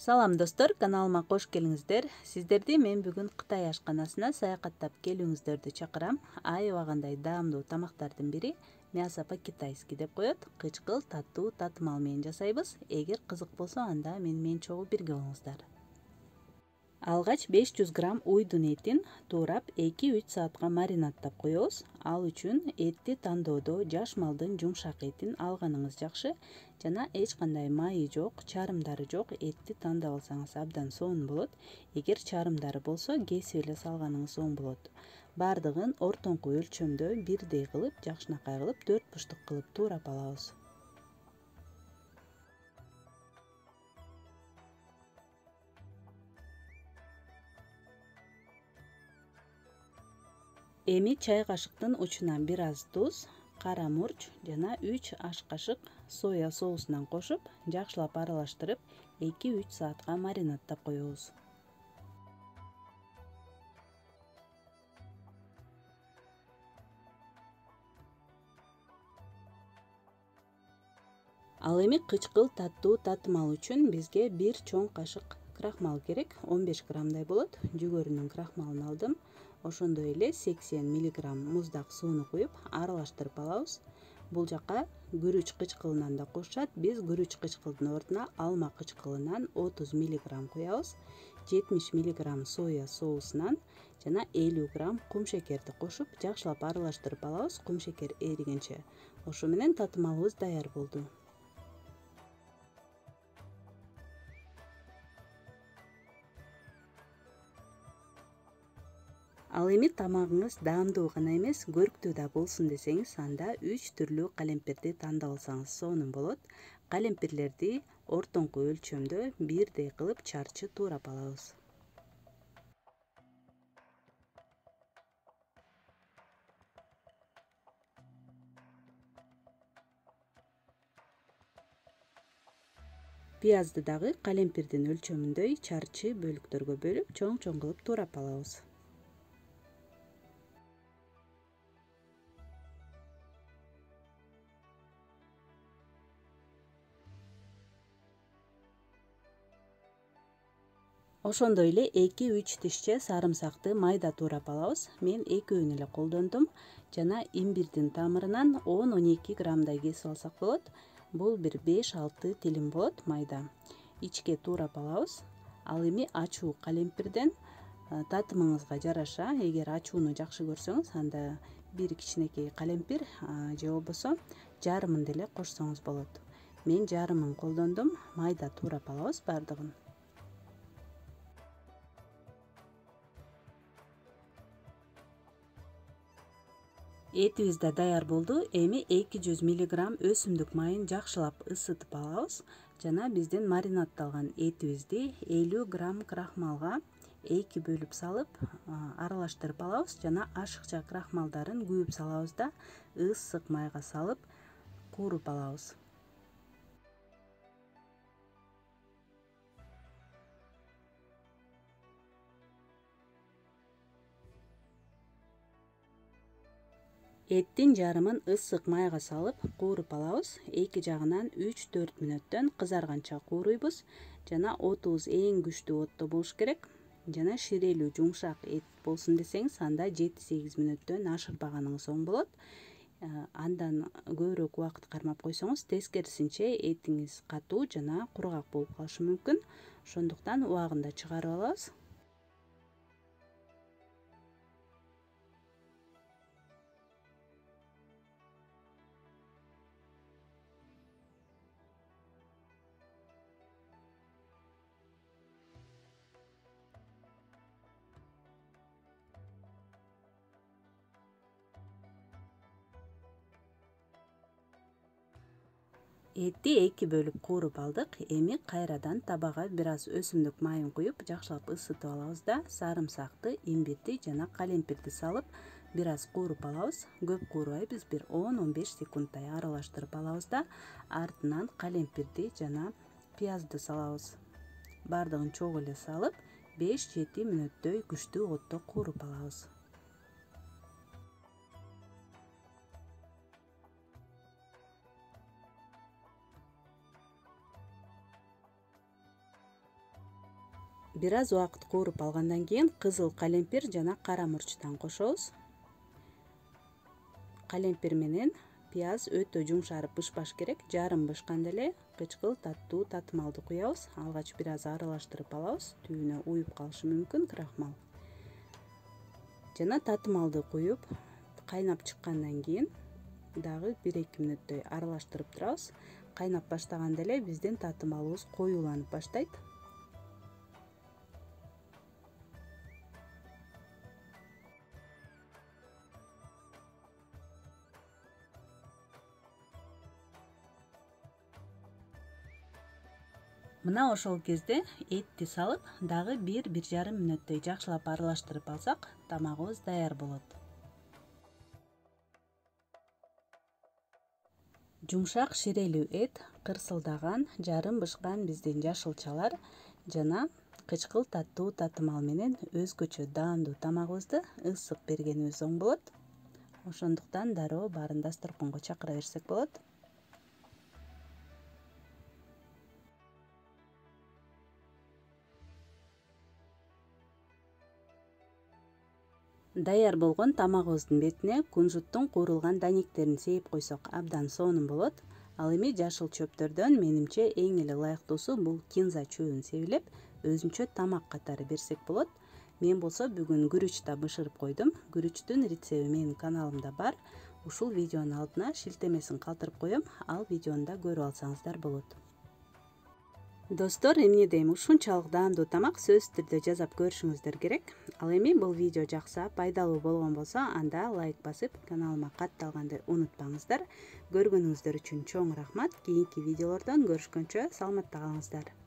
Салам достор, каналыма кош келиңиздер. Сиздерди мен бүгүн Кытай ашканасына саякаттап келүүңүздөрдү чакырам. Аябагандай даамдуу тамактардын бири мясо по-китайски деп коет. Кычкыл, таттуу, татымал менен жасайбыз. Эгер кызык болсо, анда менен чогуу бирге болуңуздар. Алгач 500 грамм уйдун этин туурап 2-3 саатка маринадтап коебуз. Ал үчүн этти тандоодо жаш малдын жумшак этин алганыңыз жакшы. Жана эч кандай майы жок, чарымдары жок этти тандап алсаңыз абдан сонун болот. Эгер чарымдары болсо, кесип эле салганыңыз оң болот. Бардыгын ортоңку өлчөмдө бирдей кылып, жакшынакай кылып 4 буштук кылып туурап алабыз. Эми чай кашыктын учуна бир аз туз, кара мурч жана 3 аш кашык соя соусунан кошуп, жакшылап аралаштырып 2-3 саатка маринадтап коебуз. Ал эми кычкыл, таттуу, татымал үчүн бизге 1 чоң кашык крахмал керек, 15 граммдай болот. Жүгөрүнүн крахмалын алдым. Ошондой эле 80 мг муздак сууну куюп аралаштырып алабыз. Бул жака күрүч кычкылынан да кошушат. Биз күрүч кычкылдын ордуна алма кычкылынан 30 мг куябыз. 70 мг соя соусунан жана 50 грамм кумшекерди кошуп, жакшылап аралаштырып алабыз. Кумшекер эригенче. Ошо менен татымалыбыз даяр болду. Ал эми тамагыңыз даамдуу гана эмес, көрктүү да болсун десеңиз, анда 3 түрлүү калемпирди тандап алсаңыз сонун болот. Калемпирлерди ортоңку өлчөмдө бирдей кылып чарчы туурап алабыз. Пиязды дагы калемпирдин өлчөмүндөй чарчы бөлүктөргө бөлүп, чоң-чоң кылып туурап алабыз. Ошондой эле 2-3 тишче сарымсакты майда туурап алабыз. Мен экөөнү эле колдондум. Жана имбирдин тамырынан 10-12 граммдай кесип алсак болот. Бул бир 5-6 тилим болот майда. Ичке туурап алабыз. Ал эми ачуу калемпирден татымыңызга жараша, эгер ачууну жакшы көрсөңүз, анда бир кичинекей калемпир же болбосо жарымын деле кошсоңуз болот. Мен жарымын колдондум. Майда туурап алабыз бардыгын. Этибиз да даяр болду. Эми 200 мг өсүмдүк майын жакшылап ысытып алабыз. Жана биздин маринадталган этибизди 50 грамм крахмалга 2 бөлүп салып, аралаштырып алабыз. Жана ашыкча крахмалдарын күйүп салабыз да ысык майга салып кууруп алабыз. Эттин жарымын ысык майга салып кууруп алабыз. Эки жагынан 3-4 мүнөттөн кызарганча кууруйбуз. Жана отубуз эң күчтүү отто болуш керек. Жана ширелүү жумшак эт болсун десеңиз, анда 7-8 мүнөттөн ашырбаганыңыз оң болот. Андан көбүрөөк убакыт кармап койсоңуз, тескерисинче этиңиз катуу жана кургак болуп калышы мүмкүн. Ошондуктан убагында чыгарып алабыз. Этти 2 бөлүп кууруп алдык. Эми кайрадан табага бир аз өсүмдүк майын куюп, жакшылап ысытып алабыз да сарымсакты, имбирди жана калемпирди салып бир аз кууруп алабыз. Көп куурбайбыз, бир 10-15 секундтай аралаштырып алабыз да артынан калемпирди жана пиязды салабыз. Бардыгын чогуу эле салып 5-7 мүнөттөй күчтүү отто кууруп алабыз. Бир аз убакыт кууруп алгандан кийин кызыл калемпир жана кара мурчтан кошобуз. Калемпир менен пияз өтө жумшарып бышпаш керек. Жарым бышканда эле кычкыл таттуу татымалды куябыз. Алгач бир аз аралаштырып алабыз. Түбүнө уюп калышы мүмкүн крахмал. Жана татымалды куюп кайнап чыккандан кийин дагы 1-2 мүнөттөй аралаштырып турабыз. Кайнап баштаганда эле биздин татымалыбыз коюуланып баштайт. Мына ошол кезде этти салып, дагы 1-1,5 мүнөттөй жакшылап аралаштырып алсак, тамагыбыз даяр болот. Жумшак ширелүү эт, кырсылдаган, жарым бышкан биздин жашылчалар жана кычкыл таттуу татымал менен өзгөчө даамдуу тамагыбызды ысык бергенибиз оң болот. Ошондуктан дароо баарын дасторконго чакыра берсек болот. Даяр болгон тамагыбыздын бетине кунжуттун куурулган данектерин сээп койсок абдан сонун болот. Ал эми жашыл чөптөрдөн менимче эң эле ылайыктуусу бул кинза чөбүн себилеп, өзүнчө тамак катары берсек болот. Мен болсо бүгүн күрүч да бышырып койдум. Күрүчтүн рецепти менин каналымда бар. Ушул видеонун алдына шилтемесин калтырып коем. Ал видеону да көрүп алсаңыздар болот. Достор, эмне дейм, ушунчалык даамдуу тамак сөзсүз түрдө жасап көрүшүңүздөр керек. Ал эми бул видео жакса, пайдалуу болгон болсо, анда лайк басып, каналыма катталганды унутпаңыздар. Көргөнүңүздөр үчүн чоң рахмат. Кийинки видеолордон көрүшкөнчө саламатта калыңыздар.